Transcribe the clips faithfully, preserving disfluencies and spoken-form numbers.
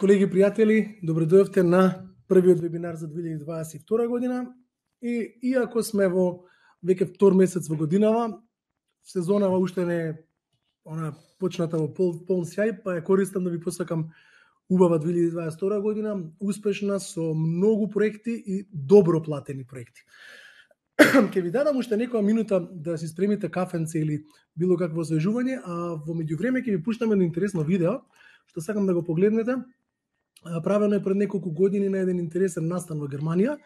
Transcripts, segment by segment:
Колеги, пријатели, добре дојавте на првиот вебинар за две илјади дваесет и втора година. И иако сме во веќе втор месец во годинава, сезонава уште не е она почната во пол, полн сјај, па ја користам да ви посакам убава две илјади дваесет и втора година, успешна со многу проекти и добро платени проекти. Ке ви дадам уште некоја минута да си спремите кафенце или било какво освежување, а во меѓувреме ќе ви пуштам едно интересно видео што сакам да го погледнете. Правено е пред неколку години на еден интересен настан во Германија,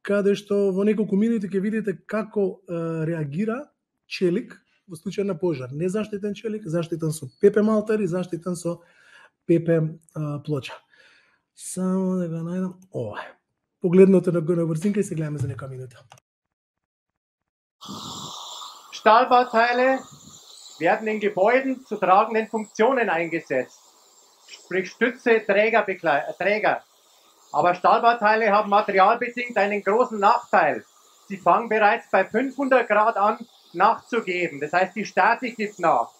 каде што во неколку минути ќе видите како е, реагира челик во случај на пожар. Незаштитен челик, заштитен со пепе малтер и заштитен со пепе е, плоча. Само да го најдам ова. Погледнете на го на брзинка и се гледаме за некоја минута. Stahlbauteile werden in Gebäuden zu tragenden Funktionen eingesetzt, sprich Stütze, Träger, Träger. Aber Stahlbauteile haben materialbedingt einen großen Nachteil. Sie fangen bereits bei fünfhundert Grad an nachzugeben, das heißt die Statik gibt nach.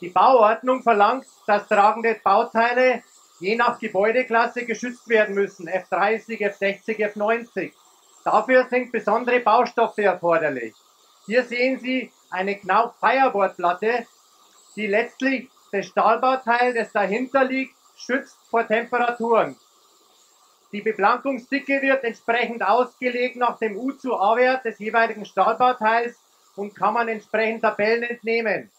Die Bauordnung verlangt, dass tragende Bauteile je nach Gebäudeklasse geschützt werden müssen, F dreißig, F sechzig, F neunzig. Dafür sind besondere Baustoffe erforderlich. Hier sehen Sie eine Knauf Fireboardplatte, die letztlich das Stahlbauteil, das dahinter liegt, schützt vor Temperaturen. Die Beplankungsdicke wird entsprechend ausgelegt nach dem U zu A-Wert des jeweiligen Stahlbauteils und kann man entsprechend Tabellen entnehmen.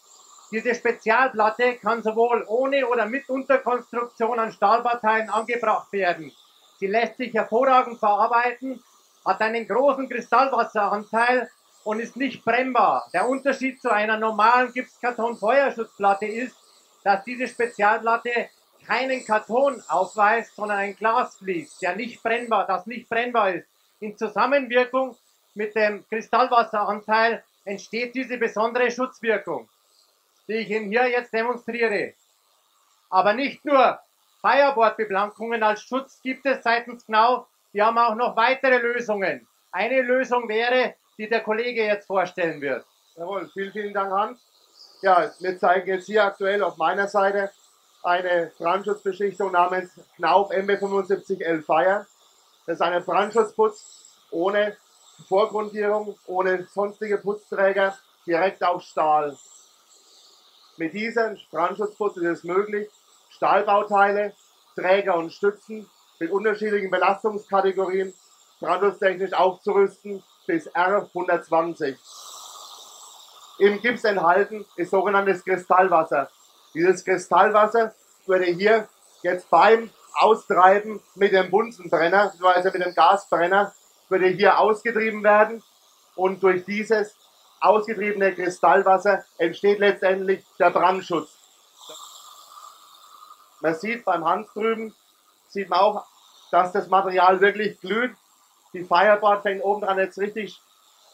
Diese Spezialplatte kann sowohl ohne oder mit Unterkonstruktion an Stahlbauteilen angebracht werden. Sie lässt sich hervorragend verarbeiten, hat einen großen Kristallwasseranteil und ist nicht brennbar. Der Unterschied zu einer normalen Gipskarton-Feuerschutzplatte ist, dass diese Spezialplatte keinen Karton aufweist, sondern ein Glasvlies, der nicht brennbar, das nicht brennbar ist. In Zusammenwirkung mit dem Kristallwasseranteil entsteht diese besondere Schutzwirkung, die ich Ihnen hier jetzt demonstriere. Aber nicht nur Fireboard-Beplankungen als Schutz gibt es seitens Knauf, wir haben auch noch weitere Lösungen. Eine Lösung wäre, die der Kollege jetzt vorstellen wird. Jawohl, vielen, vielen Dank, Hans. Ja, wir zeigen jetzt hier aktuell auf meiner Seite eine Brandschutzbeschichtung namens Knauf M B fünfundsiebzig L Fire. Das ist ein Brandschutzputz ohne Vorgrundierung, ohne sonstige Putzträger, direkt auf Stahl. Mit diesem Brandschutzputz ist es möglich, Stahlbauteile, Träger und Stützen mit unterschiedlichen Belastungskategorien brandschutztechnisch aufzurüsten bis R hundertzwanzig. Im Gips enthalten ist sogenanntes Kristallwasser. Dieses Kristallwasser würde hier jetzt beim Austreiben mit dem Bunsenbrenner, also mit dem Gasbrenner, würde hier ausgetrieben werden und durch dieses ausgetriebene Kristallwasser entsteht letztendlich der Brandschutz. Man sieht beim Hans drüben, sieht man auch, dass das Material wirklich glüht. Die Fireboard fängt oben dran jetzt richtig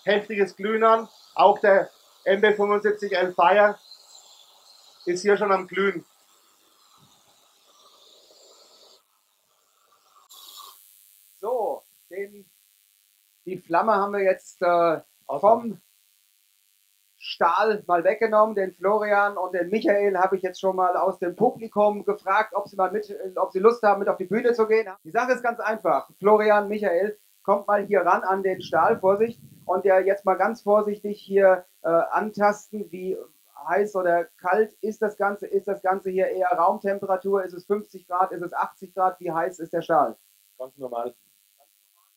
heftiges Glühen an. Auch der M B fünfundsiebzig L Fire ist hier schon am Glühen. So, den, die Flamme haben wir jetzt äh, vom Stahl mal weggenommen. Den Florian und den Michael habe ich jetzt schon mal aus dem Publikum gefragt, ob sie mal mit, ob sie Lust haben, mit auf die Bühne zu gehen. Die Sache ist ganz einfach. Florian, Michael, kommt mal hier ran an den Stahl, Vorsicht, und der jetzt mal ganz vorsichtig hier äh, antasten, wie heiß oder kalt ist das Ganze, ist das Ganze hier eher Raumtemperatur, ist es fünfzig Grad, ist es achtzig Grad, wie heiß ist der Stahl? Ganz normal.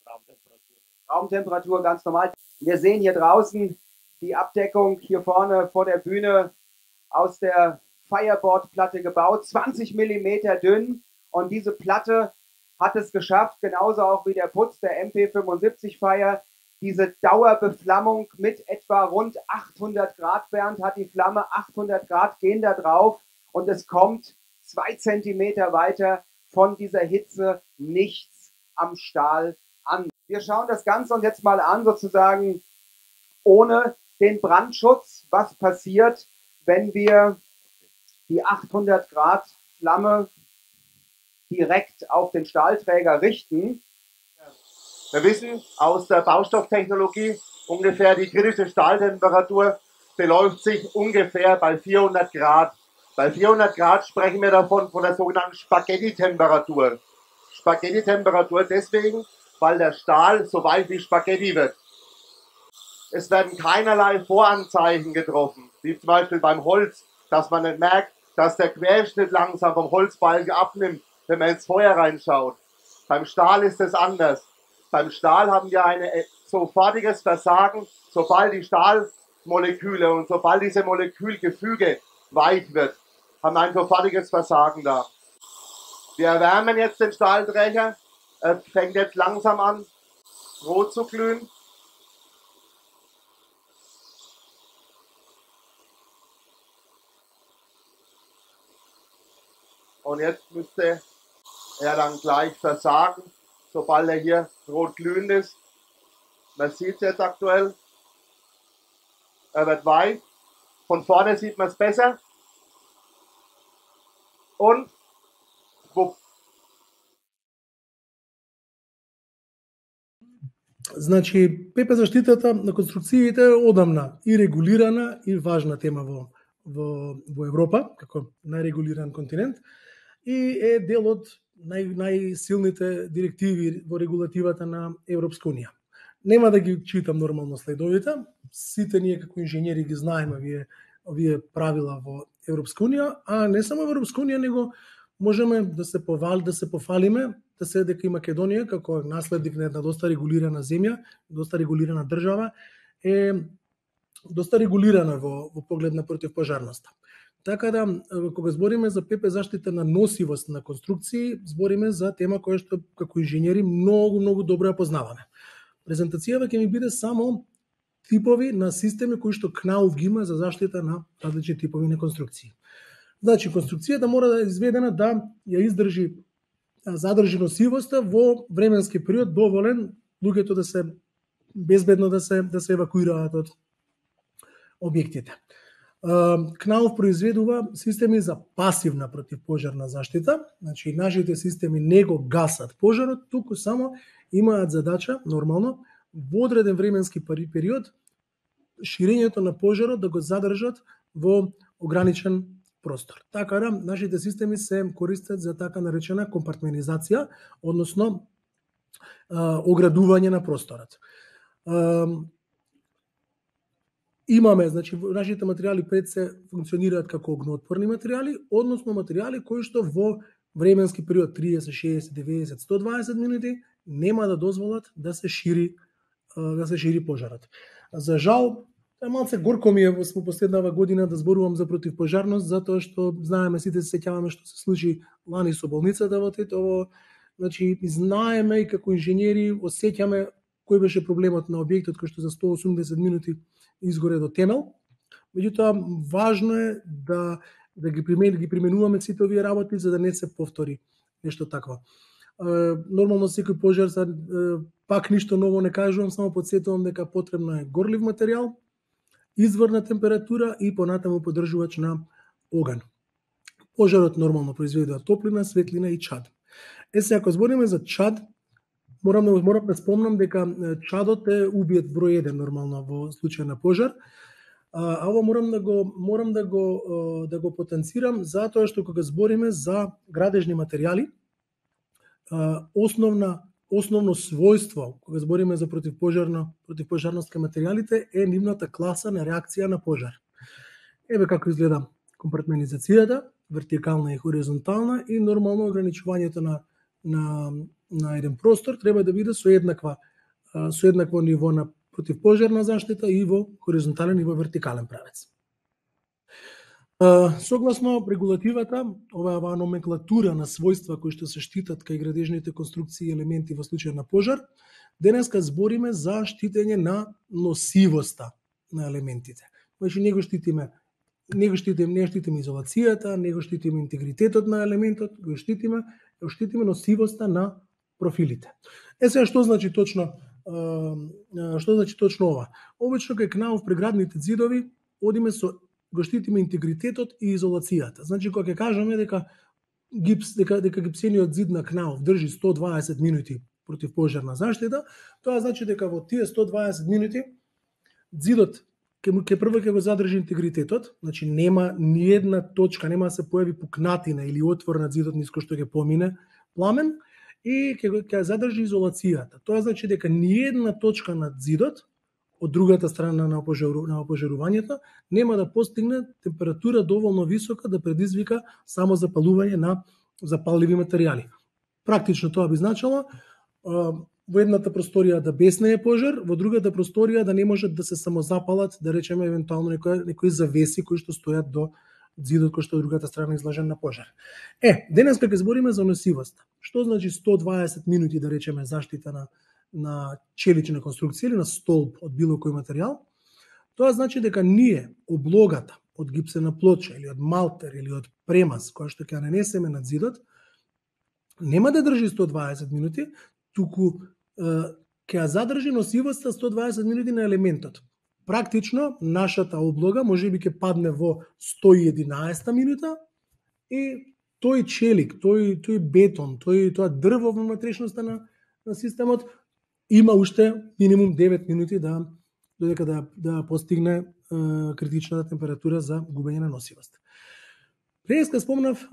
Raumtemperatur. Raumtemperatur, ganz normal. Wir sehen hier draußen die Abdeckung hier vorne vor der Bühne aus der Fireboard-Platte gebaut, zwanzig Millimeter dünn, und diese Platte hat es geschafft, genauso auch wie der Putz der M P fünfundsiebzig Fire, diese Dauerbeflammung mit etwa rund achthundert Grad, Bernd, hat die Flamme, achthundert Grad gehen da drauf, und es kommt zwei Zentimeter weiter von dieser Hitze nichts am Stahl an. Wir schauen das Ganze uns jetzt mal an, sozusagen ohne den Brandschutz. Was passiert, wenn wir die achthundert Grad Flamme direkt auf den Stahlträger richten? Wir wissen aus der Baustofftechnologie, ungefähr die kritische Stahltemperatur beläuft sich ungefähr bei vierhundert Grad. Bei vierhundert Grad sprechen wir davon von der sogenannten Spaghetti-Temperatur. Spaghetti-Temperatur deswegen, weil der Stahl so weit wie Spaghetti wird. Es werden keinerlei Voranzeichen getroffen, wie zum Beispiel beim Holz, dass man nicht merkt, dass der Querschnitt langsam vom Holzbalken abnimmt, wenn man ins Feuer reinschaut. Beim Stahl ist es anders. Beim Stahl haben wir ein sofortiges Versagen, sobald die Stahlmoleküle und sobald diese Molekülgefüge weich wird, haben wir ein sofortiges Versagen da. Wir erwärmen jetzt den Stahlträger. Er fängt jetzt langsam an, rot zu glühen. Und jetzt müsste er dann gleich versagen, sobald er hier rot glühend ist. Man sieht es jetzt aktuell. Er wird weich. Von vorne sieht man es besser. Und wupp. Значи, ПП заштитата на конструкциите е одамна и регулирана и важна тема во, во, во Европа, како најрегулиран континент, и е дел од нај, најсилните директиви во регулативата на Европска Унија. Нема да ги читам нормално следовите, сите ние како инженери ги знаеме овие, овие правила во Европска Унија, а не само во Европска Унија, него можеме да се повали, да се пофалиме, да се дека и Македонија како наследник на една доста регулирана земја, доста регулирана држава, е доста регулирана во, во поглед на противпожарноста. Така да, кога збориме за ПП заштита на носивост на конструкции, збориме за тема која што како инженери многу, многу добро ја познаваме. Презентацијава ќе ми биде само типови на системи кои што КНАУФ ги има за заштита на различни типови на конструкции. Значи, конструкцијата мора да е изведена да ја издржи, задржи носивоста во временски период доволен луѓето да се безбедно да се да се евакуираат од објектите. КНАУФ произведува системи за пасивна противпожарна заштита, значи нашите системи не го гасат пожарот, туку само имаат задача нормално во одреден временски период ширењето на пожарот да го задржат во ограничен простор. Така да, нашите системи се користат за така наречена компартментизација, односно а, оградување на просторот. А, имаме, значи, нашите материјали пред се функционираат како огнеотпорни материјали, односно материјали кои што во временски период триесет, шеесет, деветдесет, сто дваесет минути нема да дозволат да се шири да се шири пожарот. За жал, е малце горко ми е во последнава година да зборувам за противпожарност, затоа што знаеме, сите се сеќаваме што се случи лани со болницата во Тетово, значи знаеме и како инженери осеќаме кој беше проблемот на објектот кој што за сто осумдесет минути изгоре до темел. Меѓутоа важно е да да ги примен, ги применуваме сите овие работи за да не се повтори нешто такво. Нормално секој пожар са, пак ништо ново не кажувам, само подсетувам дека потребно е горлив материјал, изворна температура и понатаму поддржувач на оган. Пожарот нормално произведува топлина, светлина и чад. Е се ако збориме за чад, морам да морам да спомнам дека чадот е убиет број еден нормално во случај на пожар. А ова морам да го морам да го да го потенцирам затоа што кога збориме за градежни материјали, основна основно својство кога збориме за противпожарно противпожарност кај материјалите е нивната класа на реакција на пожар. Еве како изгледа компартментизацијата, вертикална и хоризонтална, и нормално ограничувањето на на на еден простор треба да биде со еднаква со еднакво ниво на противпожарна заштита и во хоризонтален и во вертикален правец. Согласно регулативата, оваа номенклатура на својства кои што се штитат кај градежните конструкции и елементи во случај на пожар, денеска збориме за штитење на носивоста на елементите. Значи не го штитиме, не го штитиме, не штитиме изолацијата, не го штитиме интегритетот на елементот, го штитиме, го штитиме носивоста на профилите. Е сега што значи точно што значи точно ова? Обично кај КНАУФ преградните ѕидови одиме со го штитиме интегритетот и изолацијата. Значи кога ќе кажеме дека гипс дека дека гипсениот ѕид на КНАУФ држи сто дваесет минути противпожарна заштита, тоа значи дека во тие сто дваесет минути ѕидот ќе му ќе прво ќе го задржи интегритетот, значи нема ни една точка, нема да се појави пукнатина или отвор на зидот низ кој што ќе помине пламен и ќе ќе задржи изолацијата. Тоа значи дека ни една точка над зидот од другата страна на опожару, на опожарувањето нема да постигне температура доволно висока да предизвика само запалување на запалливи материјали. Практично тоа би значило во едната просторија да беснее пожар, во другата просторија да не можат да се самозапалат, да речеме евентуално некои, некои завеси кои што стојат до зидот кој што од другата страна изложен на пожар. Е, денес ќе збориме за носивост. Што значи сто дваесет минути да речеме заштита на на челична конструкција или на столб од било кој материјал? Тоа значи дека ние облогата од гипсена плоча или од малтер или од премаз која што ќе нанесеме над зидот нема да држи сто дваесет минути, туку ќе ја задржи носивоста сто дваесет минути на елементот. Практично, нашата облога може би ќе падне во сто и единаесета минута и тој челик, тој, тој бетон, тој, тоа дрво во внатрешноста на, на системот има уште минимум девет минути да додека да, да постигне е, критичната температура за губење на носивост. Преска спомнав е,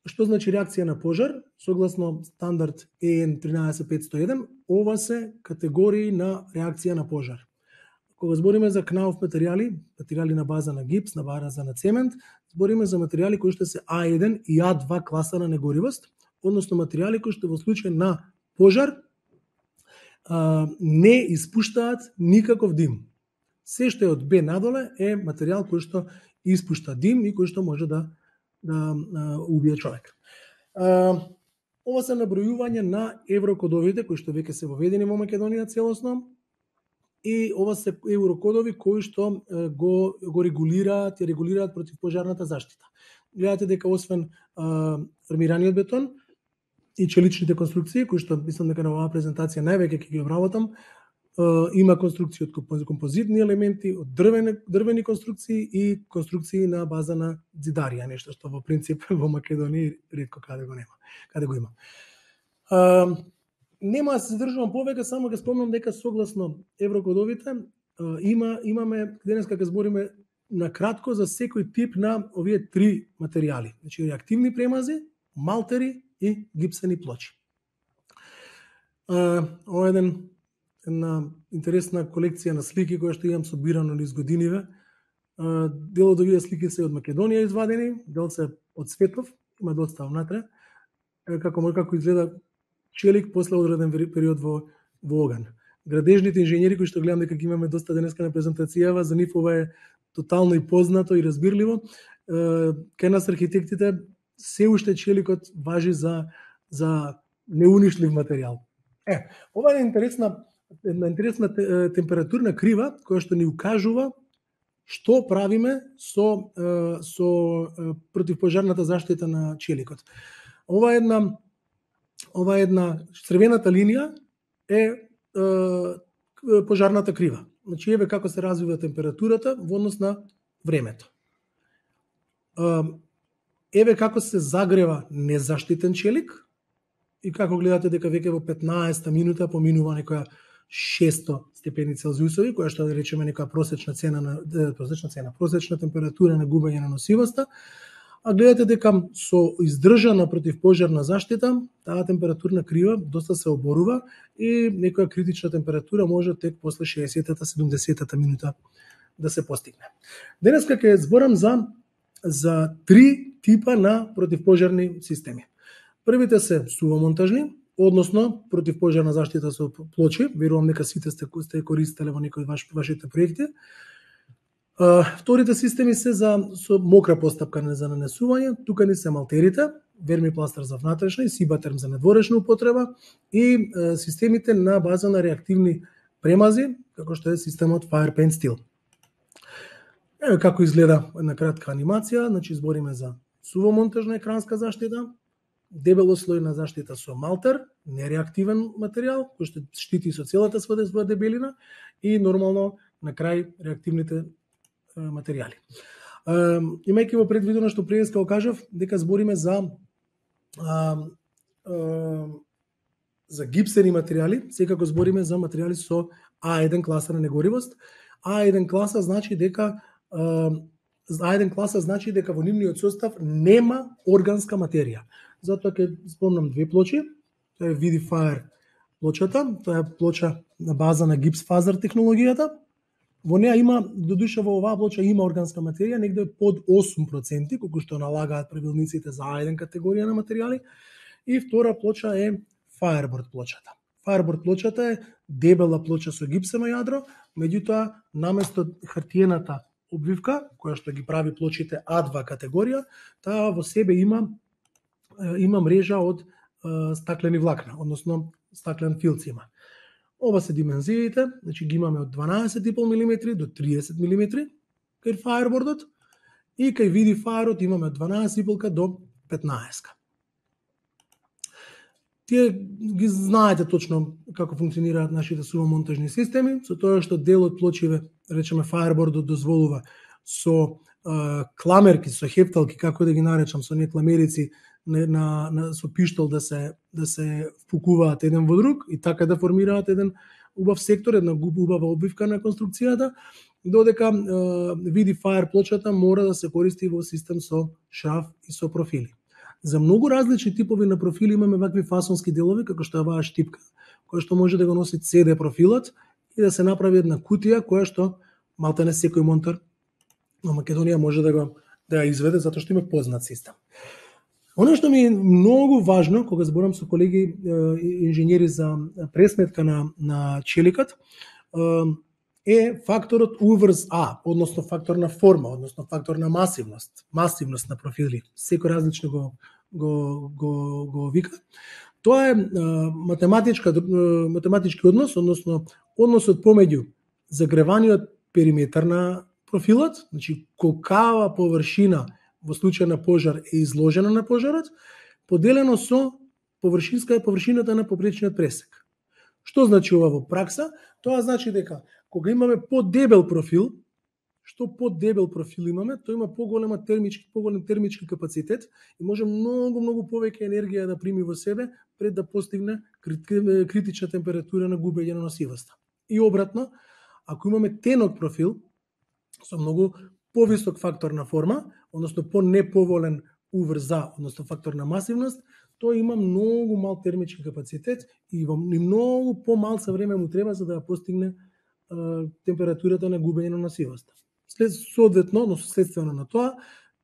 што значи реакција на пожар, согласно стандард Е Н тринаесет петсто и еден, ова се категории на реакција на пожар. Кога збориме за кнауф материјали, материјали на база на гипс, на база на цемент, збориме за материјали кои што се А еден и А два класа на негоривост, односно материјали кои што во случај на пожар а, не испуштаат никаков дим. Се што е од Б надоле е материјал кој што испушта дим и кој што може да, да а, убие човек. А, ова се набројување на еврокодовите кои што веќе се воведени во Македонија целосно, и ова се еврокодови кои што го, го регулираат и регулираат противпожарната заштита. Гледате дека освен а, армираниот бетон и челичните конструкции, кои што мислам дека на оваа презентација највеќе ќе ги обработам, а, има конструкции од композитни елементи, од дрвени, дрвени конструкции и конструкции на база на зидарија, нешто што во принцип во Македонија ретко каде го нема, каде го има. А, Нема да се задржувам повеќе, само ќе спомнам дека согласно еврокодовите има имаме денеска ќе збориме на кратко за секој тип на овие три материјали. Значи реактивни премази, малтери и гипсени плочи. Ова е еден една интересна колекција на слики која што имам собирано низ годиниве. Дел од овие слики се од Македонија извадени, дел се од светов, има доста внатре. Како може како изгледа челик после одреден период во, во оган. Градежните инженери кои што гледам дека ги имаме доста денеска на презентацијава, за нив ова е тотално и познато и разбирливо. Кај нас архитектите се уште челикот важи за за неунишлив материјал. Е, ова е интересна една интересна температурна крива која што ни укажува што правиме со со противпожарната заштита на челикот. Ова е една Ова една црвената линија е, е пожарната крива. Значи еве како се развива температурата во однос на времето. Еве како се загрева незаштитен челик и како гледате дека веќе во петнаесета минута поминува некоја шесто степени Целзиусови, која што да речеме некоја просечна цена на просечна цена, просечна температура на губење на носивоста. А гледате дека со издржана противпожарна заштита, таа температурна крива доста се оборува и некоја критична температура може тек после шеесеттата седумдесеттата минута да се постигне. Денеска ќе зборам за за три типа на противпожарни системи. Првите се сувомонтажни, односно противпожарна заштита со плочи, верувам дека сите сте сте користеле во некои ваш вашите проекти. Uh, вторите системи се за со мокра постапка за нанесување, тука ни се малтерите, вермипластер за внатрешна и сибатерм за надворешна употреба и uh, системите на база на реактивни премази, како што е системот Fire Paint Steel. Еве како изгледа една кратка анимација, значи збориме за сувомонтажна екранска заштита, дебелослојна заштита со малтер, нереактивен материјал кој што штити со целата своја дебелина и нормално на крај реактивните материјали. Имајќи во предвидено што преска го кажав дека збориме за а, а, за гипсени материјали, секако збориме за материјали со А еден класа на негоривост, А еден класа значи дека А еден класа значи дека во нивниот состав нема органска материја. Затоа ќе спомнам две плочи. Тоа е Vidifier плочата, тоа е плоча на база на гипс фазер технологијата. Во неа има, додуша во оваа плоча има органска материја, негде под осум проценти, колку што налагаат правилниците за А еден категорија на материјали. И втора плоча е Fireboard плочата. Fireboard плочата е дебела плоча со гипсено јадро, меѓутоа наместо хартиената обвивка, која што ги прави плочите А два категорија, таа во себе има има мрежа од е, стаклени влакна, односно стаклен филц има. Ова се димензиите, значи ги имаме од дванаесет и пол милиметри до триесет милиметри кај Fireboardот и кај Vidifierот имаме од дванаесет и пол до петнаесет. Тие ги знаете точно како функционираат нашите сувомонтажни системи, со тоа што дел од плочиве, речеме Fireboardот дозволува со е, кламерки, со хепталки, како да ги наречам, со не кламерици на, на, на со пиштол да се да се впукуваат еден во друг и така да формираат еден убав сектор, една убава обвивка на конструкцијата, додека е, Vidifier плочата мора да се користи во систем со шраф и со профили. За многу различни типови на профили имаме вакви фасонски делови, како што е оваа штипка, која што може да го носи Си Ди профилот и да се направи една кутија која што малтене секој монтер во Македонија може да го да ја изведе затоа што има познат систем. Оно што ми е многу важно кога зборам со колеги инженери за пресметка на на челикот е факторот У врз А, односно фактор на форма, односно фактор на масивност, масивност на профили. Секој различно го го го го вика. Тоа е математичка математички однос, односно односот помеѓу загреваниот периметар на профилот, значи колкава површина во случај на пожар е изложена на пожарот, поделено со површинска површината на попречниот пресек. Што значи ова во пракса? Тоа значи дека кога имаме подебел профил, што подебел профил имаме, тој има поголема термички, поголем термички капацитет и може многу многу повеќе енергија да прими во себе пред да постигне критична температура на губење на носивоста. И обратно, ако имаме тенок профил со многу повисок фактор на форма, односно по-неповолен У врз А, односно фактор на масивност, тој има многу мал термички капацитет и во многу помалце време му треба за да ја постигне е, температурата на губење на носивоста. След соодветно, но следствено на тоа,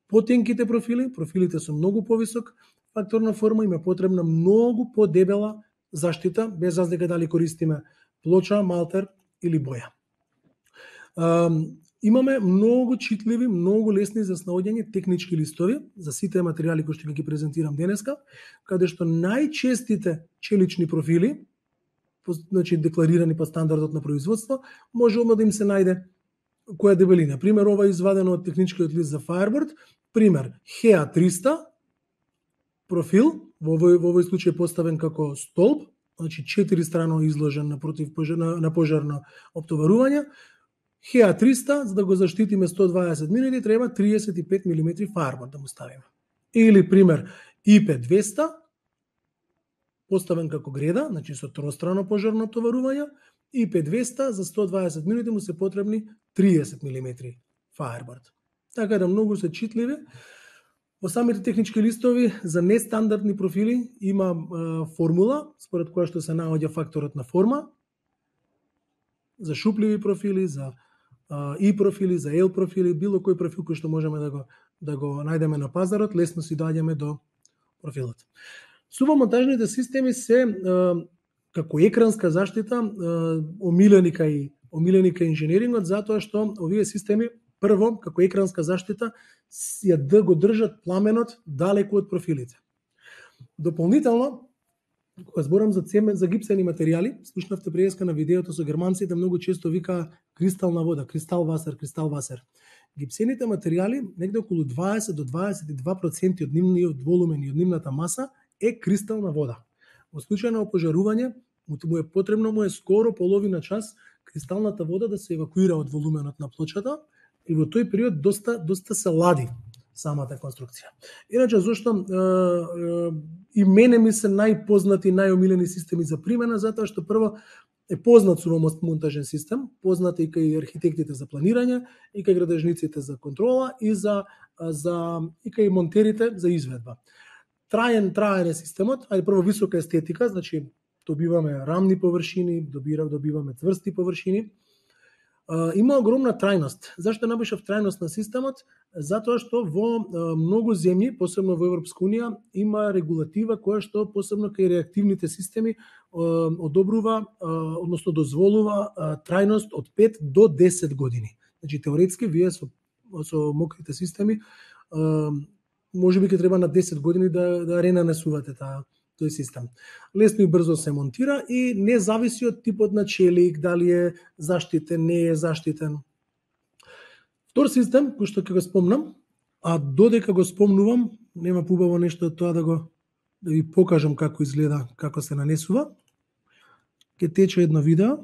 потенките профили, профилите со многу повисок фактор на форма, има потребна многу подебела заштита, без разлика дали користиме плоча, малтер или боја. Um, Имаме многу читливи, многу лесни за снаоѓање технички листови за сите материјали кои што ги презентирам денеска, каде што најчестите челични профили, значи декларирани по стандардот на производство, може одма да им се најде која дебелина. Пример, ова е извадено од техничкиот лист за Fireboard, пример Хеа триста профил, во овој, во овој случај поставен како столб, значи четири страно изложен на против на, на пожарно оптоварување. Хеа триста, за да го заштитиме сто дваесет минути, треба триесет и пет милиметри Fireboard да му ставиме. Или, пример, И П двеста, поставен како греда, значи со тространо пожарно оптоварување, И П двеста за сто дваесет минути му се потребни триесет милиметри Fireboard. Така да многу се читливи. Во самите технички листови за нестандардни профили има е, формула, според која што се наоѓа факторот на форма, за шупливи профили, за И профили, за Л профили, било кој профил кој што можеме да го да го најдеме на пазарот, лесно си доаѓаме до профилот. Сувомонтажните системи се како екранска заштита омилени кај омилени кај инженерингот, затоа што овие системи прво како екранска заштита ја да го држат пламенот далеку од профилите. Дополнително, кога зборам за цемент, за гипсени материјали, слушнавте преска на видеото со германците, многу често вика кристална вода, кристал васер, кристал васер. Гипсените материјали, негде околу дваесет до дваесет и два проценти од нивниот волумен и од нивната маса е кристална вода. Во случај на опожарување, му е потребно му е скоро половина час кристалната вода да се евакуира од волуменот на плочата и во тој период доста доста се лади самата конструкција. Иначе зошто е, е, и мене ми се најпознати, најомилени системи за примена, затоа што прво е познат сувомонтажен систем, познат и кај архитектите за планирање, и кај градежниците за контрола, и за, за и кај монтерите за изведба. Траен траен е системот, ајде прво висока естетика, значи добиваме рамни површини, добира, добиваме цврсти површини. Uh, има огромна трајност. Зашто набешав трајност на системот? Затоа што во uh, многу земји, посебно во Европска унија, има регулатива која што посебно кај реактивните системи uh, одобрува, uh, односно дозволува uh, трајност од пет до десет години. Значи теоретски вие со, со мокрите системи uh, можеби ќе треба на десет години да да ренанесувате таа тој систем. Лесно и брзо се монтира и не зависи од типот на челик, дали е заштитен, не е заштитен. Втор систем, кој што ќе го спомнам, а додека го спомнувам, нема побаво нешто од тоа да го да ви покажам како изгледа, како се нанесува. Ќе тече едно видео.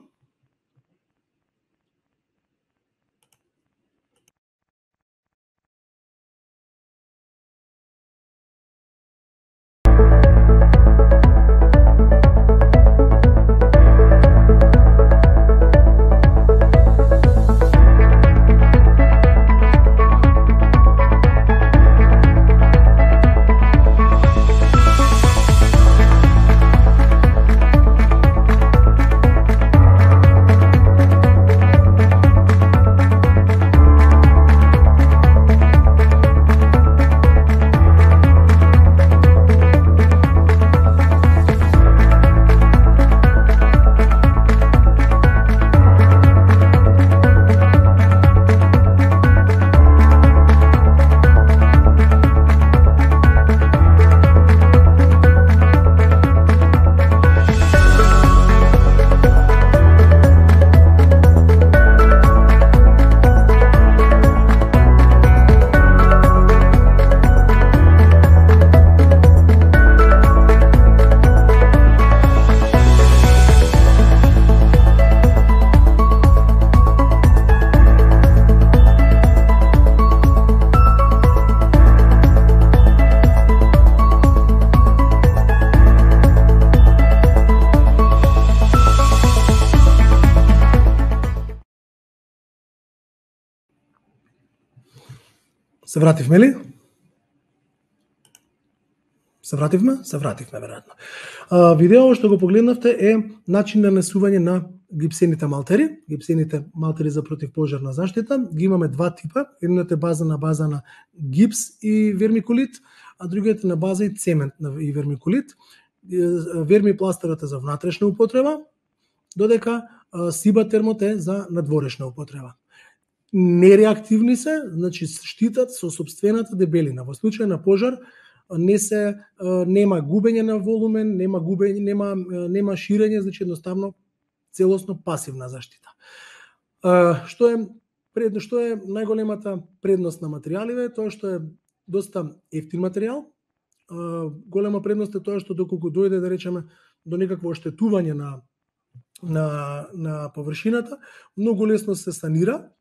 Се вративме ли? Се вративме? Се вративме, веројатно. А, видео што го погледнавте е начин на нанесување на гипсените малтери, гипсените малтери за противпожарна заштита. Ги имаме два типа, едната е база на база на гипс и вермикулит, а другиот е на база и цемент и вермикулит. Вермипластерот е за внатрешна употреба, додека сиба термот е за надворешна употреба. Нереактивни се, значи штитат со сопствената дебелина. Во случај на пожар не се нема губење на волумен, нема губење, нема нема ширење, значи едноставно целосно пасивна заштита. Што е предно што е најголемата предност на материјалите, тоа што е доста ефтин материјал. Голема предност е тоа што доколку дојде да речеме до некакво оштетување на на на површината, многу лесно се санира.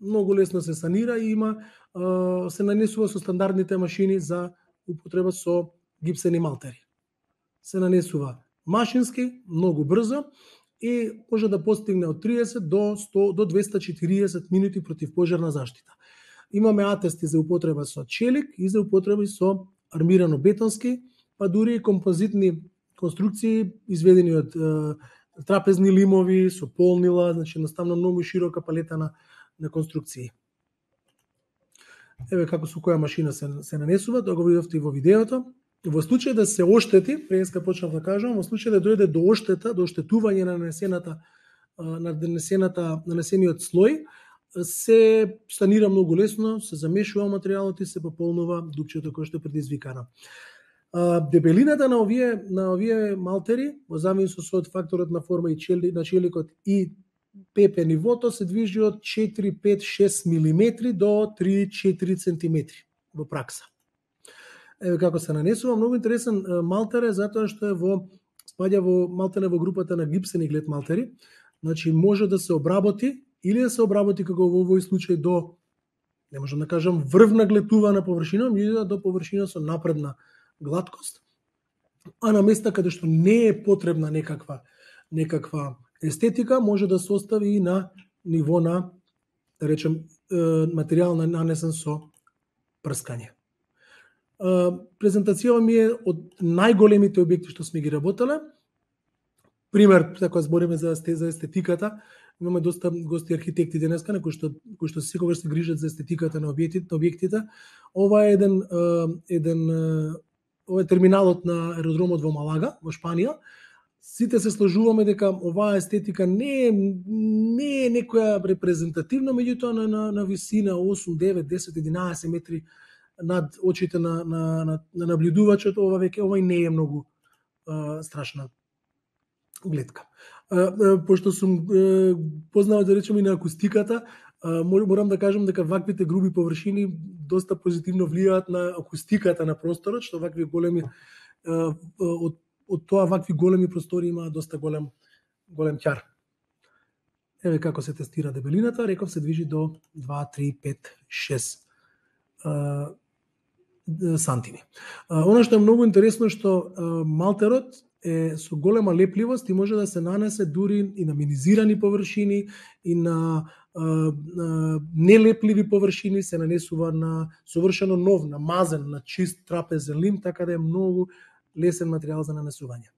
Многу лесно се санира и има се нанесува со стандардните машини за употреба со гипсени малтери. Се нанесува машински, многу брзо и може да постигне од триесет до сто до двеста и четириесет минути противпожарна заштита. Имаме атести за употреба со челик и за употреба со армирано бетонски, па дури и композитни конструкции изведени од е, трапезни лимови со полнила, значи едноставно многу широка палета на на конструкции. Еве како со која машина се се нанесува, тоа го видовте и во видеото. Во случај да се оштети, преска почнав да кажам, во случај да дојде до оштета, до оштетување на нанесената на нанесената нанесениот слој, се санира многу лесно, се замешува материјалот и се пополнува дупчето кое што е предизвикано. Дебелината на овие на овие малтери, во зависност од факторот на форма и чели, на челикот и ПП нивото се движи од четири, пет, шест милиметри до три, четири центиметри во пракса. Еве како се нанесува, многу интересен малтер е затоа што е во спаѓа во малтене во групата на гипсени глед малтери. Значи може да се обработи или да се обработи како во овој случај до, не можам да кажам врвна глетувана површина, меѓутоа до површина со напредна гладкост, а на места каде што не е потребна некаква некаква естетика може да се остави и на ниво на, да речем, материјал нанесен со прскање. Презентацијава ми е од најголемите објекти што сме ги работеле. Пример, ако збориме за за естетиката, имаме доста гости архитекти денеска, на кои што кои што секогаш се грижат за естетиката на објектите, на објектите. Ова е еден еден ова е терминалот на аеродромот во Малага, во Шпанија. Сите се сложуваме дека оваа естетика не е не е некоја репрезентативна, меѓутоа на, на на висина осум, девет, десет, единаесет метри над очите на на на, на наблюдувачот, ова веќе ова и не е многу а, страшна гледка. А, а, пошто сум а, познал, да речем, и на акустиката, а, морам да кажам дека ваквите груби површини доста позитивно влијаат на акустиката на просторот, што вакви големи а, од од тоа вакви големи простори има доста голем голем ќар. Еве како се тестира дебелината, реков се движи до два, три, пет, шест а, сантими. А, она што е многу интересно што а, малтерот е со голема лепливост и може да се нанесе дури и на минизирани површини и на а, а, нелепливи површини, се нанесува на совршено нов, на мазен, на чист трапезен лим, така да е многу лесен материјал за нанесување.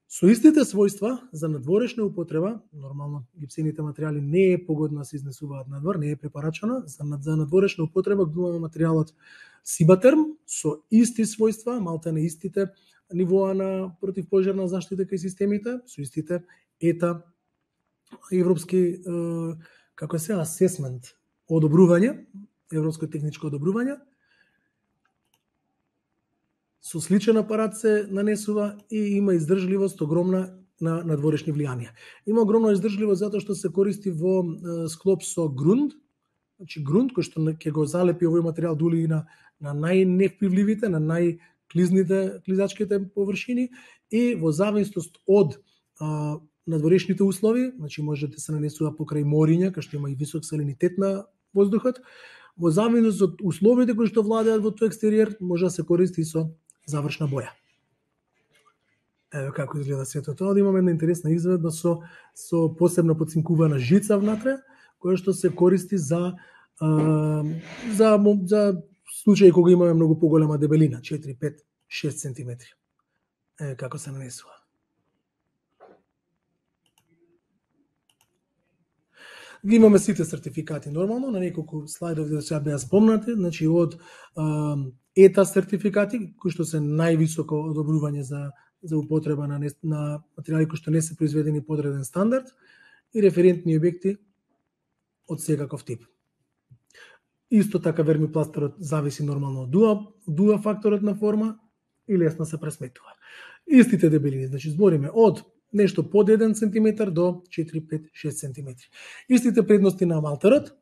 Со истите својства за надворешна употреба, нормално гипсените материјали не е погодно да се изнесуваат надвор, не е препарачано, за, за надворешна употреба имаме материјалот Сибатерм со исти својства, малте на истите нивоа на противпожарна заштита кај системите, со истите ета европски како се асесмент, одобрување, европско техничко одобрување. Со сличен апарат се нанесува и има издржливост огромна на надворешни влијанија. Има огромна издржливост затоа што се користи во е, склоп со грунт, значи грунт кој што ќе го залепи овој материјал дули и на на најневпивливите, на најклизните клизачките површини и во зависност од а, надворешните услови, значи може да се нанесува покрај мориња, кај што има и висок салинитет на воздухот, во зависност од условите кои што владеат во тој екстериер, може да се користи со завршна боја. Еве како изгледа сето тоа. Имаме една интересна изведба со со посебно подцинкувана жица внатре, која што се користи за а, за за случаи кога имаме многу поголема дебелина, четири, пет, шест сантиметри. Еве како се нанесува. Ги имаме сите сертификати нормално, на неколку слайдови да сега беа спомнати, значи од а, ета сертификати, кои што се највисоко одобрување за за употреба на, на материјали кои што не се произведени по одреден стандард и референтни објекти од секаков тип. Исто така вермипластерот зависи нормално од дуа, дуа факторот на форма и лесно се пресметува. Истите дебелини, значи збориме од нешто под еден сантиметар до четири, пет, шест сантиметри. Истите предности на малтерот: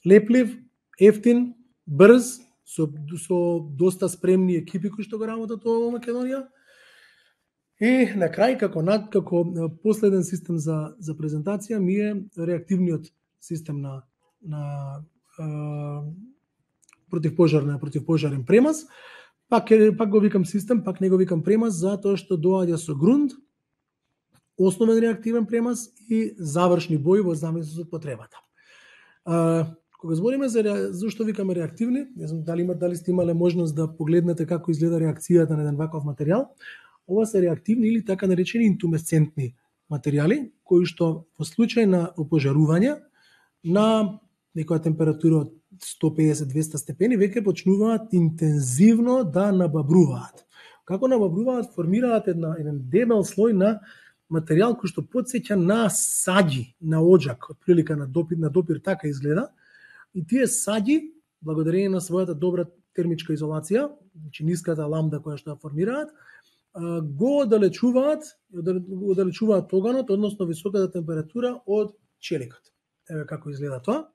леплив, ефтин, брз, со, со доста спремни екипи кои што го работат во Македонија. И на крај, како, како последен систем за, за презентација, ми е реактивниот систем на, на а, противпожарен, противпожарен премаз. Пак, пак го викам систем, пак не го викам премаз, затоа што доаѓа со грунт, основен реактивен премаз и завршни бои во зависност од потребата. А, кога збориме за зашто викаме реактивни, не знам дали има дали сте имале можност да погледнете како изгледа реакцијата на еден ваков материјал. Ова се реактивни или така наречени интумесцентни материјали, кои што во случај на опожарување на некоја температура од сто песет до двесте степени веќе почнуваат интензивно да набабруваат. Како набабруваат? Формираат една, еден дебел слој на материјал кој што потсеќа на саѓи, на оџак, од прилика на допир, на допир така изгледа. И тие саѓи, благодарение на својата добра термичка изолација, значи ниската ламда која што ја формираат, го оддалечуваат, го оддалечуваат оганот, односно високата температура од челикот. Еве како изгледа тоа.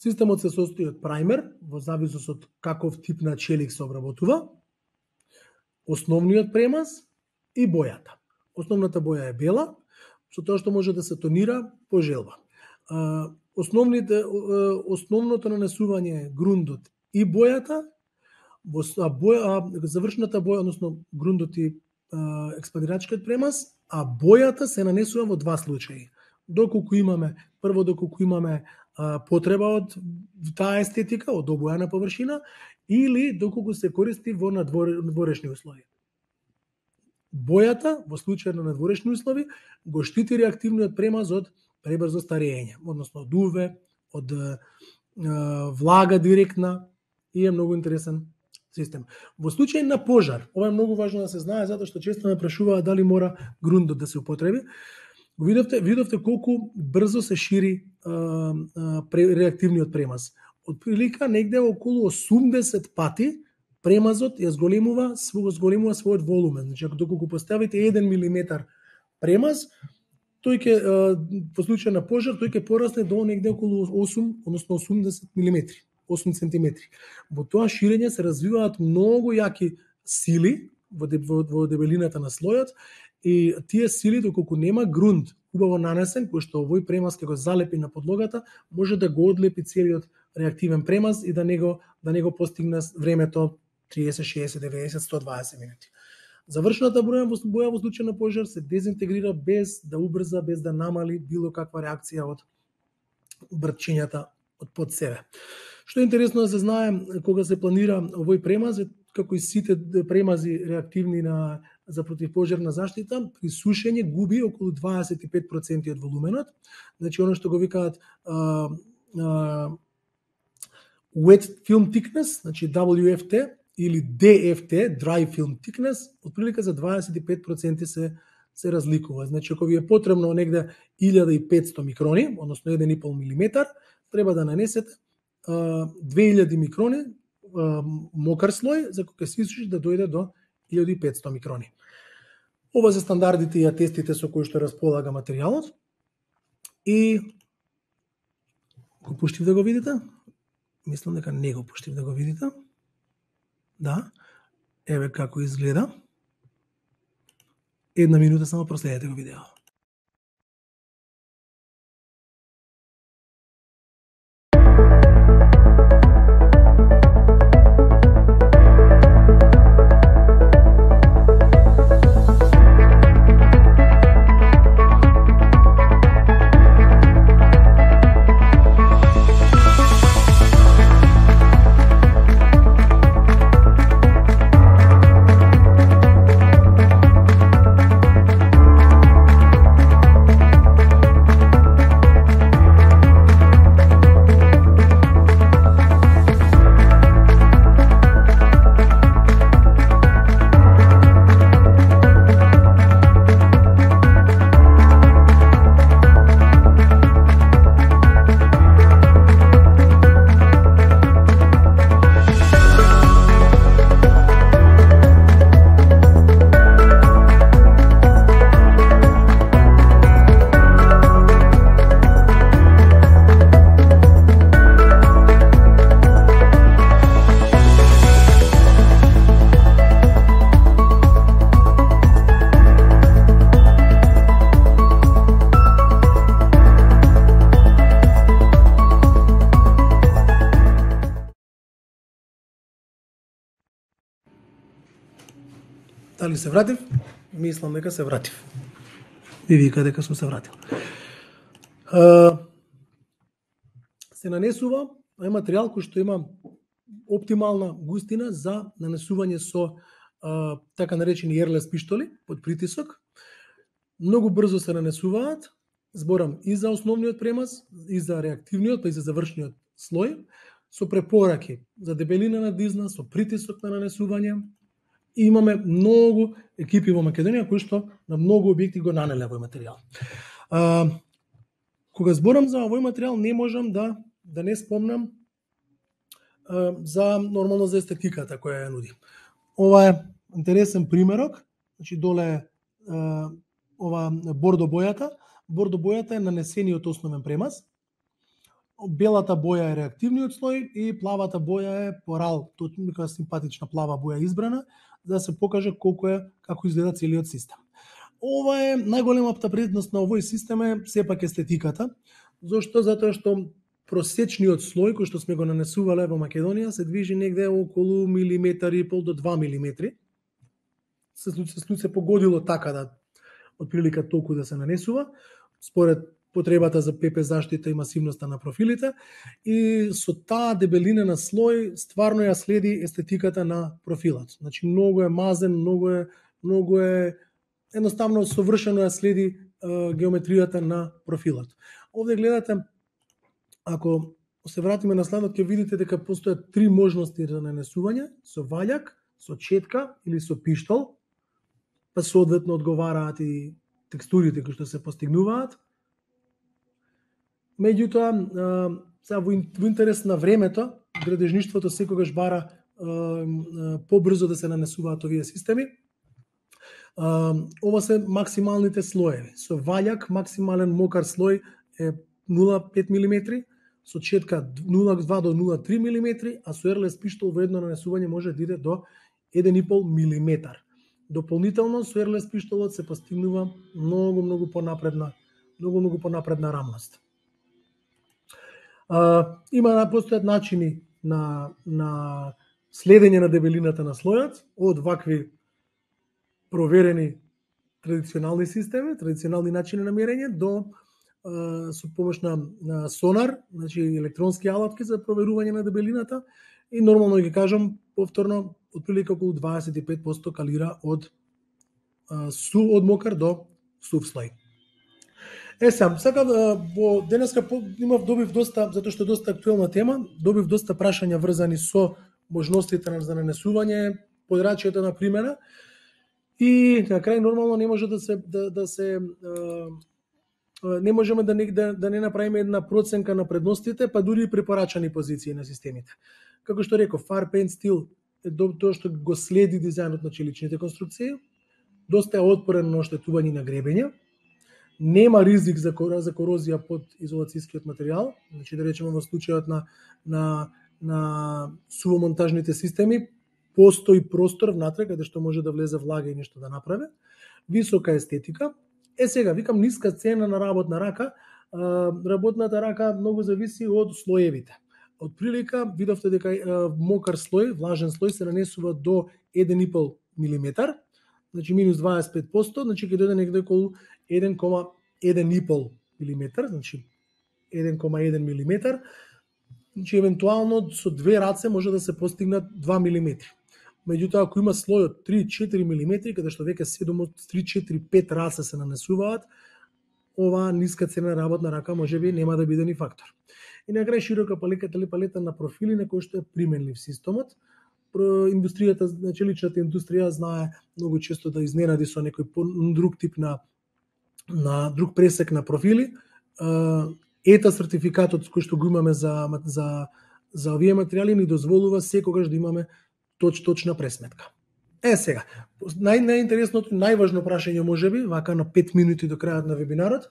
Системот се состои од праймер, во зависност од каков тип на челик се обработува, основниот премаз и бојата. Основната боја е бела, со тоа што може да се тонира по желба. Основните, основното нанесување е грундот и бојата, во боја, завршната боја, односно грундот и експандирачкиот премаз, а бојата се нанесува во два случаи. Доколку имаме, прво доколку имаме а, потреба од таа естетика, од обојана површина, или доколку се користи во надворешни услови. Бојата, во случај на надворешни услови, го штити реактивниот премаз од пребрзо старење, односно од УВ, од а, влага директна, и е многу интересен систем. Во случај на пожар, ова е многу важно да се знае, затоа што често ме прашуваат дали мора грундот да се употреби. Го видовте, видовте колку брзо се шири а, а, реактивниот премаз. Од прилика негде околу осумдесет пати премазот ја зголемува, зголемува својот волумен. Значи, ако доколку поставите еден милиметар премаз, тој ќе во случај на пожар тој ќе порасне до негде околу осум, односно осумдесет милиметри, осум сантиметри. Во тоа ширење се развиваат многу јаки сили во, во, во дебелината на слојот, и тие сили, доколку нема грунт убаво нанесен, кој што овој премаз ќе го залепи на подлогата, може да го одлепи целиот реактивен премаз и да него да него постигне времето триесет, шеесет, деветдесет, сто и дваесет минути. Завршената боја во боја во случај на пожар се дезинтегрира без да убрза, без да намали било каква реакција од брчењата од под себе. Што е интересно да се знае, кога се планира овој премаз, како и сите премази реактивни на за противпожарна заштита, при сушење губи околу дваесет и пет проценти од волуменот. Значи, оно што го викаат а, а, wet film thickness, значи дабљу еф ти, или ди еф ти, dry film thickness, отприлика за дваесет и пет проценти се се разликува. Значи, ако ви е потребно негде илјада и петсто микрони, односно еден и пол милиметар, треба да нанесете а, две илјади микрони а, мокар слој, за кој ќе се исуши да дојде до илјада и петсто микрони. Ова се стандардите и атестите со кои што располага материјалот. И го пуштив да го видите? Мислам дека не го пуштив да го видите. Да, еве како изгледа. Една минута само проследете го видео. Дали се вратив? Мислам дека се вратив. Ви вика дека сум се вратил. Uh, се нанесува е материјал кој што има оптимална густина за нанесување со uh, така наречени ерлес пиштоли под притисок. Многу брзо се нанесуваат, зборам и за основниот премаз, и за реактивниот, па и за завршниот слој, со препораки за дебелина на дизна, со притисок на нанесување. И имаме многу екипи во Македонија кои што на многу објекти го нанеле овој материјал. А, кога зборам за овој материјал, не можам да да не спомнам а, за нормално за естетиката која ја нуди. Ова е интересен примерок, значи доле а, ова бордо бојата. Бордо бојата е нанесениот основен премаз. Белата боја е реактивниот слој и плавата боја е порал, тоа е симпатична плава боја избрана, за да се покаже колку е, како изгледа целиот систем. Ова е најголемата предност на овој систем е сепак естетиката. Зошто? Затоа што просечниот слој кој што сме го нанесувале во Македонија се движи негде околу милиметар и пол до два милиметри. Се се, се погодило така да од прилика толку да се нанесува, според потребата за пе пе заштита и масивноста на профилите, и со таа дебелина на слој стварно ја следи естетиката на профилот. Значи многу е мазен, многу е многу е едноставно совршено ја следи е, геометријата на профилот. Овде гледате, ако се вратиме на следот, ќе видите дека постојат три можности за нанесување: со ваљак, со четка или со пиштол, па соодветно одговараат и текстурите кои што се постигнуваат. Меѓутоа, сега во интерес на времето, градежништвото секогаш бара побрзо да се нанесуваат овие системи. Ова се максималните слоеви. Со ваљак максимален мокар слој е нула целу пет милиметри, со четка нула целу два до нула целу три милиметри, а со ерлес пиштол во едно нанесување може да иде до еден и пол милиметар. Дополнително со ерлес пиштолот се постигнува многу многу понапредна, многу многу понапредна рамност. Uh, има постојат начини на, на следење на дебелината на слојот, од вакви проверени традиционални системи, традиционални начини на мерење, до uh, со помош на, на сонар, значи електронски алатки за проверување на дебелината, и нормално ги кажам повторно, отприлика околу дваесет и пет проценти калира од uh, су од мокар до сув слој. Е, сам, сакав, во денеска имав, добив доста, затоа што е доста актуелна тема, добив доста прашања врзани со можностите за нанесување, подрачјето на примера, и на крај нормално не може да се да, да се не можеме да не да, да не направиме една проценка на предностите, па дури и препорачани позиции на системите. Како што реков, Fire Paint Steel е тоа што го следи дизајнот на челичните конструкции, доста е отпорен на оштетување на гребења, нема ризик за, за корозија под изолацијскиот материјал, значи да речеме во случајот на, на, на сувомонтажните системи, постои простор внатре каде што може да влезе влага и нешто да направи, висока естетика. Е сега, викам, ниска цена на работна рака, работната рака многу зависи од слоевите. Од прилика, видовте дека мокар слој, влажен слој се нанесува до еден и пол милиметар, значи минус дваесет и пет проценти, значи ќе дојде некаде околу еден кoma еден и пол милиметар, значи еден кoma еден милиметар, значи евентуално со две раце може да се постигнат два милиметри. Меѓутоа, ако има слој од три до четири милиметри, каде што веќе седум од три, четири, пет раце се нанесуваат, оваа ниска цена работна рака можеби нема да биде ни фактор. И на крај широка палета, палета на профили на кои што е применлив системот. Индустријата, значи личната индустрија знае многу често да изненади со некој друг тип на на друг пресек на профили. Ета сертификатот кој што го имаме за за за овие материјали ни дозволува секогаш да имаме точ точна пресметка. Е сега, нај најинтересното, најважно прашање можеби, вака на пет минути до крајот на вебинарот,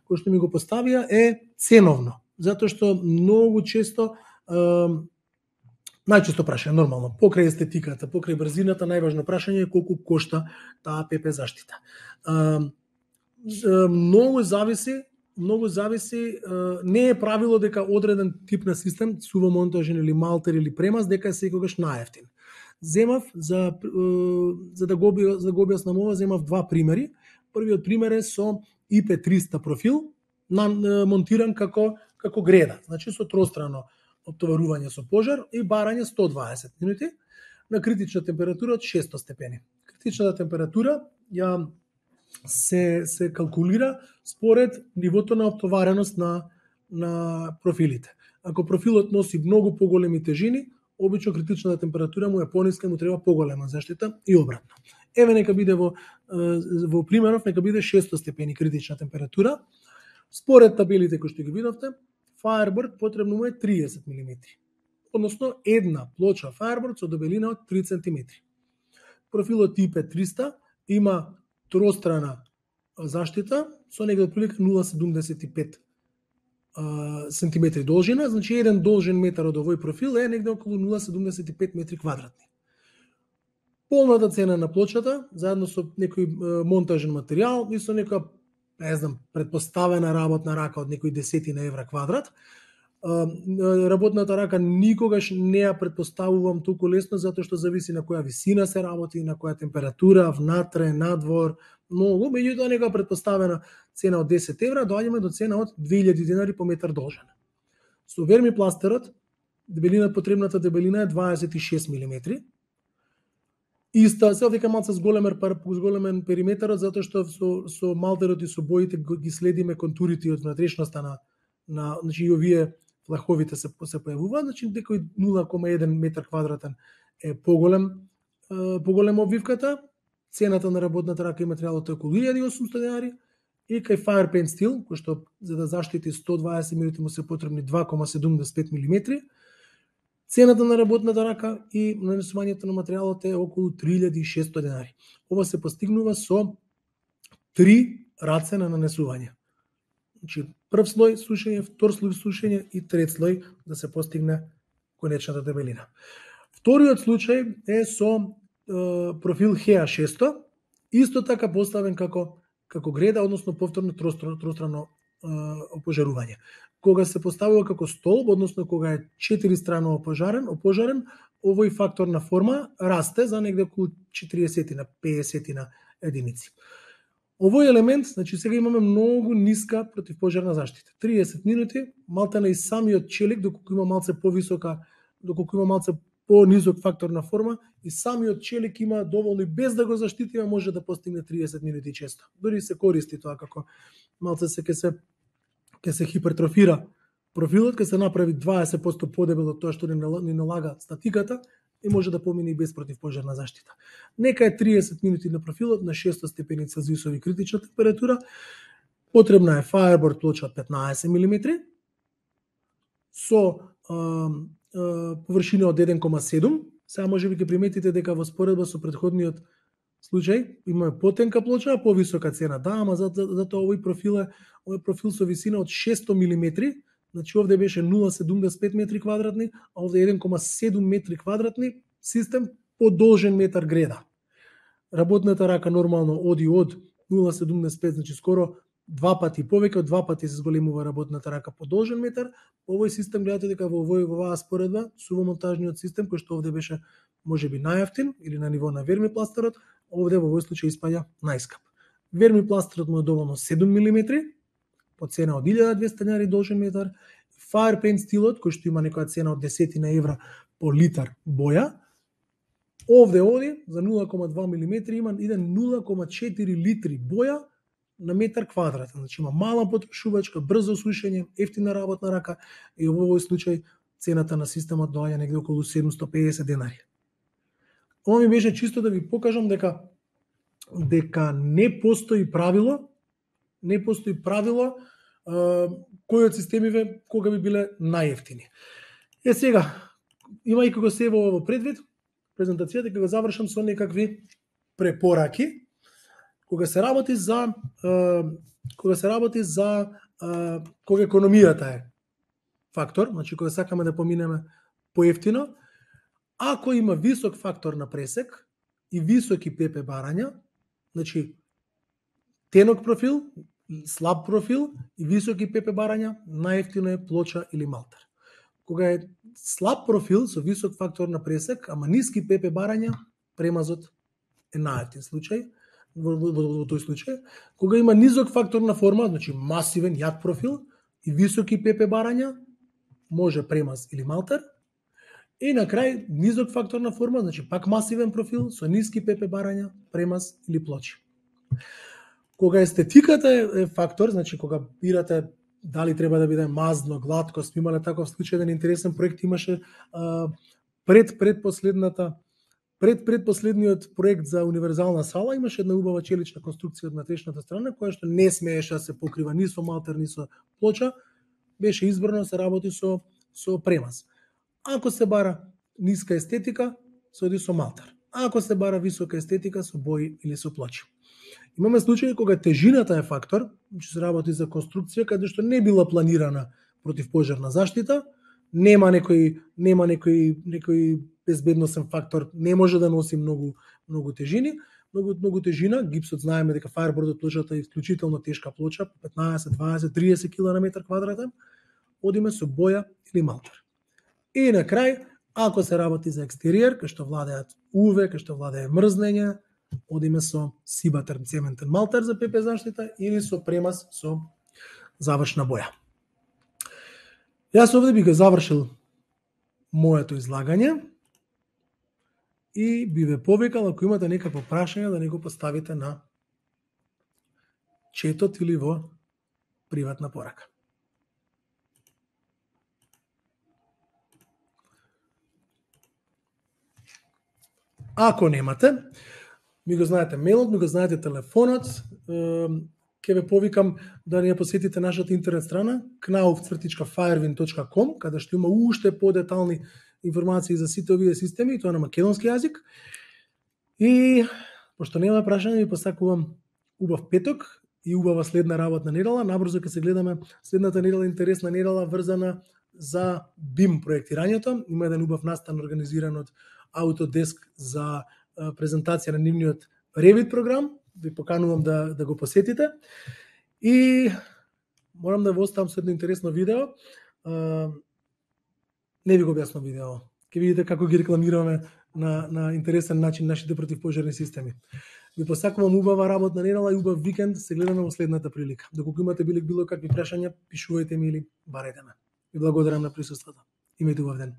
кој што ми го поставија е ценовно, затоа што многу често најчесто прашање, нормално, покрај естетиката, покрај брзината, најважно прашање е колку кошта таа пе пе заштита. Многу зависи, многу зависи, не е правило дека одреден тип на систем, сувомонтажен или малтер или премаз, дека е секогаш најевтин. Земав за за да го за да го објаснам ова, земав два примери. Првиот пример е со и пе триста профил, монтиран како како греда, значи со тространо оптоварување со пожар и барање сто дваесет минути на критична температура од шесто степени. Критичната температура ја се се калкулира според нивото на оптовареност на на профилите. Ако профилот носи многу поголеми тежини, обично критичната температура му е пониска, му треба поголема заштита и обратно. Еве нека биде во во примеров нека биде шесто степени критична температура. Според табелите кои што ги видовте, Firebird потребно му е триесет милиметри. Односно една плоча Firebird со дебелина од три центиметри. Профилот и пе триста има тространа заштита со негде отприлика нула целу седумдесет и пет сантиметри должина, значи еден должен метар од овој профил е негде околу нула целу седумдесет и пет метри квадратни. Полната цена на плочата, заедно со некој монтажен материјал и со некоја, не знам, предпоставена работна рака од некои десетина евра квадрат. Работната рака никогаш не ја предпоставувам толку лесно, затоа што зависи на која висина се работи, на која температура, внатре, надвор, многу, меѓутоа нека претпоставена цена од десет евра, доаѓаме до цена од две илјади денари по метар должина. Со вермипластерот, дебелина, потребната дебелина е дваесет и шест милиметри. Иста, се дека малце зголемен, зголемен периметарот, затоа што со, со малтерот и со боите ги следиме контурите од внатрешноста на, на значи и овие флаховите се, се појавуваат, значи некој нула кома еден метар квадратен е поголем, е, поголем обвивката. Цената на работната рака и материјалот е околу илјада и осумстотини денари, и кај Fire Paint Steel, кој што за да заштити сто дваесет минути му се потребни два кома седумдесет и пет милиметри, цената на работната рака и нанесувањето на материјалот е околу три илјади и шестоста денари. Ова се постигнува со три раце на нанесување. Значи, прв слој сушење, втор слој сушење и трет слој да се постигне конечната дебелина. Вториот случај е со е, профил Хеа шесто, исто така поставен како како греда, односно повторно троstrano опожарување. Кога се поставува како столб, односно кога е четиристрано опожарен, опожарен, овој фактор на форма расте за негде околу четириесет на песет на единици. Овој елемент, значи сега имаме многу ниска противпожарна заштита. триесет минути, малтена и самиот челик, доколку има малце повисока, доколку има малце по-низок фактор на форма, и самиот челик има доволно и без да го заштитиме може да постигне триесет минути често. Дори се користи тоа како малце се ќе се ќе се хипертрофира профилот, ќе се направи дваесет проценти подебел од тоа што ни налага статиката и може да помине и без противпожарна заштита. Нека е триесет минути на профилот на шесто степени Целзиусови критична температура. Потребна е Fireboard плоча од петнаесет милиметри со а, површина од еден кома седум. Сега може би ќе приметите дека во споредба со претходниот случај имаме потенка плоча, а повисока цена. Да, ама затоа за, за овој профил е овој профил со висина од шесто милиметри, значи овде беше нула кома седумдесет и пет метри квадратни, а овде еден кома седум метри квадратни, систем подолжен метар греда. Работната рака нормално оди од нула кома седумдесет и пет, значи скоро два пати, повеќе од два пати се зголемува работната рака подолжен метар. Овој систем гледате дека во овој во оваа споредба со монтажниот систем кој што овде беше можеби најевтин или на ниво на вермипластерот, овде во овој случај испаѓа најскап. Вермипластерот му е доволно седум милиметри по цена од илјада и двесте денари должен метар. Fire Paint Steelот кој што има некоја цена од десет евра по литар боја, овде оди за нула кома два милиметри има еден нула кома четири литри боја на метар квадратен. Значи има мала потрошувачка, брзо сушење, ефтина работна рака и во овој случај цената на системот доаѓа негде околу седумстотини и педесет денари. Ова ми беше чисто да ви покажам дека дека не постои правило, не постои правило а, кои од системиве кога би биле најевтини. Е сега, имајќи го се во предвид, презентацијата ќе го завршам со некакви препораки. Кога се работи за а, кога се работи за а, кога економијата е фактор, значи кога сакаме да поминеме поевтино, ако има висок фактор на пресек и високи ПП барања, значи тенок профил, слаб профил и високи ПП барања, најевтино е плоча или малтер. Кога е слаб профил со висок фактор на пресек, ама ниски ПП барања, премазот е најевтин случај. Во, во, во, во тој случај, кога има низок фактор на форма, значи масивен јак профил и високи ПП барања, може премаз или малтер. И на крај низок фактор на форма, значи пак масивен профил со ниски ПП барања, премаз или плочи. Кога естетиката е, е фактор, значи кога бирате дали треба да биде мазно, гладко, сме имале таков случај, еден интересен проект имаше а, пред предпоследната Пред предпоследниот проект за универзална сала имаше една убава челична конструкција од внатрешната страна, која што не смееше да се покрива ни со малтер, ни со плоча, беше избрано да се работи со, со премаз. Ако се бара ниска естетика, се оди со малтер. Ако се бара висока естетика, со бои или со плочи. Имаме случаи кога тежината е фактор, че се работи за конструкција каде што не била планирана противпожарна заштита, нема некој нема некој некој безбедносен фактор, не може да носи многу многу тежини, многу многу тежина, гипсот знаеме дека Fireboard плочата е исклучително тешка плоча, петнаесет, дваесет, триесет килограми на метар квадратен, одиме со боја или малтер. И на крај, ако се работи за екстериер, кај што владеат УВ, кај што владее мрзнење, одиме со Сибатер цементен малтер за пепе заштита или со премаз со завршна боја. Јас овде би го завршил моето излагање и би ве повикал ако имате некакво прашање да не го поставите на четот или во приватна порака. Ако немате, ми го знаете мейлот, ми го знаете телефонот, ќе ве повикам да не ја посетите нашата интернет страна кнаuf цртичка firewind точка com, каде што има уште подетални информации за сите овие системи, и тоа на македонски јазик. И пошто нема прашање, ви посакувам убав петок и убава следна работна недела. Набрзо ќе се гледаме следната недела, интересна недела врзана за бим проектирањето. Има еден убав настан организиран од Autodesk за презентација на нивниот Revit програм. Ви поканувам да, да го посетите. И морам да ви оставам со едно интересно видео. Не ви го објаснам видео. Ќе видите како ги рекламираме на, на интересен начин нашите противпожарни системи. Ви посакувам убава работна недела и убав викенд. Се гледаме во следната прилика. Доколку имате било, било какви прашања, пишувајте ми или барете ме. Ви благодарам на присуството. Имајте убав ден.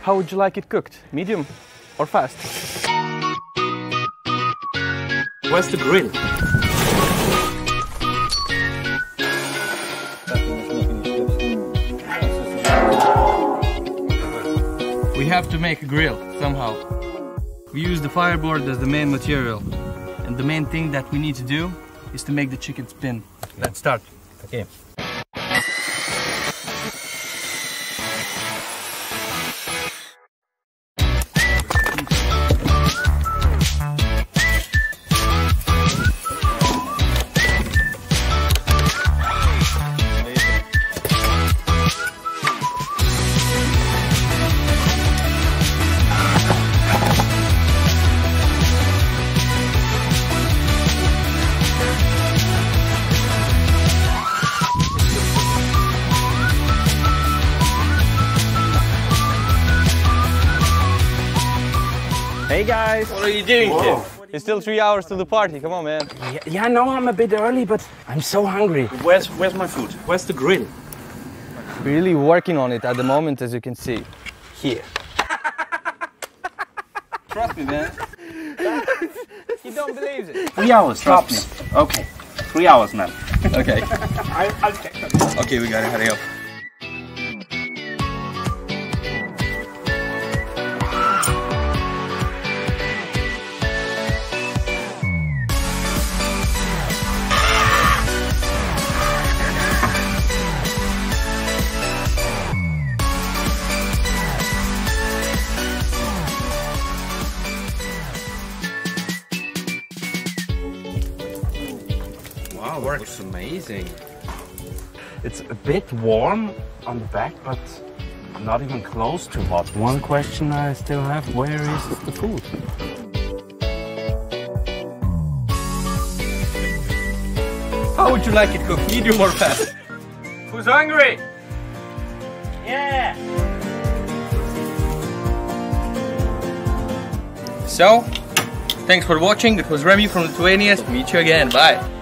How would you like it cooked? Medium or fast? Where's the grill? We have to make a grill somehow. We use the fireboard as the main material. And the main thing that we need to do is to make the chicken spin. Let's start. Okay. Hey guys! What are you doing here? It's still three hours to the party, come on man. Yeah, yeah, I know I'm a bit early, but I'm so hungry. Where's where's my food? Where's the grill? Really working on it at the moment, as you can see. Here. Trust me, man. He don't believe it. Three hours, trust me. Okay. Three hours, man. Okay. I, I'll check that. Okay, we gotta hurry up. Wow, works amazing. It's a bit warm on the back, but not even close to hot. One question I still have, where is the food? How would you like it cooked? Medium or fast? Who's hungry? Yeah! So, thanks for watching. It was Remy from Lithuania. Meet you again. Bye.